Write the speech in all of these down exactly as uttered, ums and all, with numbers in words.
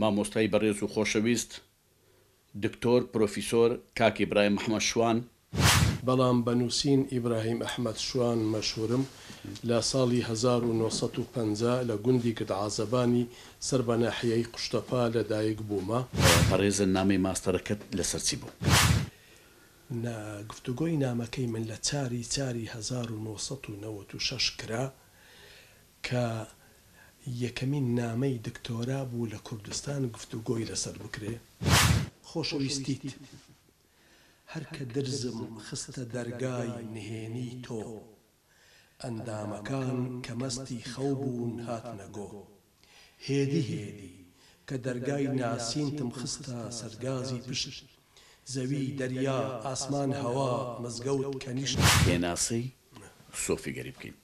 مامۆستای بەڕێز و خۆشەویست دکتۆر پرۆفیسۆر کاک ئیبراهیم ئەحمەد شوان. بەڵام بە نووسین ئیبراهیم ئەحمەد شوان مەشهوورم، لە ساڵی هەزار و نۆ سەد و پەنجا لە گوندی گردعازەبانی سەر بە ناحیەی قوشتەپە لە دایک بوومە. بەڕێزە نامەی ماستەرەکەت لەسەر چی بوو؟ نا، گفتوگۆی نامەکەی من لە چاری چاری هەزار و نۆ سەد و نەوەد و شەش کرا کە یەکەمین نامەی دکتۆرا بوو لە کوردستان گفتوگۆی لەسەر بکرێ. خۆشەویستیت هەر کە درزم خستە دەرگای نهێنیی تۆ ئەندامەکان کە مەستی خەو بوون هاتنە گۆ هێدی هێدی کە دەرگای ناسینتم خستە سەرگازی پشت زەوی دەریا ئاسمان هەوا مزگەوت کەنیشت. پێناسەی سۆفیگەری بکەین.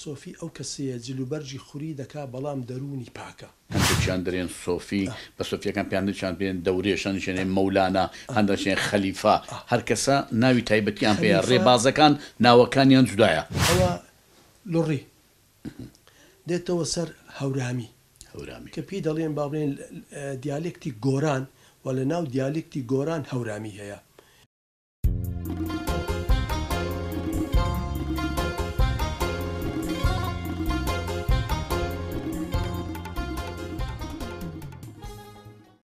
سۆفی ئەو کەسەیە جلوبەرگی خوری دەکا بەڵام دەروونی پاکە. هەندێکیان دەرێن سۆفی، بە سۆفیەکان پێیان هەندێکیان پێن دەورێش، هەندێکیان پێن مەولانا، هەندێکیان خەلیفە، هەر کەسە ناوی تایبەتیان پێیە، خەلیفە. ڕێبازەکان ناوەکانیان جودایە. ئەوە لوڕی دێتەوە سەر هەورامی. هەورامی. کە پێی دەڵێن با بڵێن دیالێکتی گۆران و لە ناو دیالێکتی گۆران هەورامی هەیە.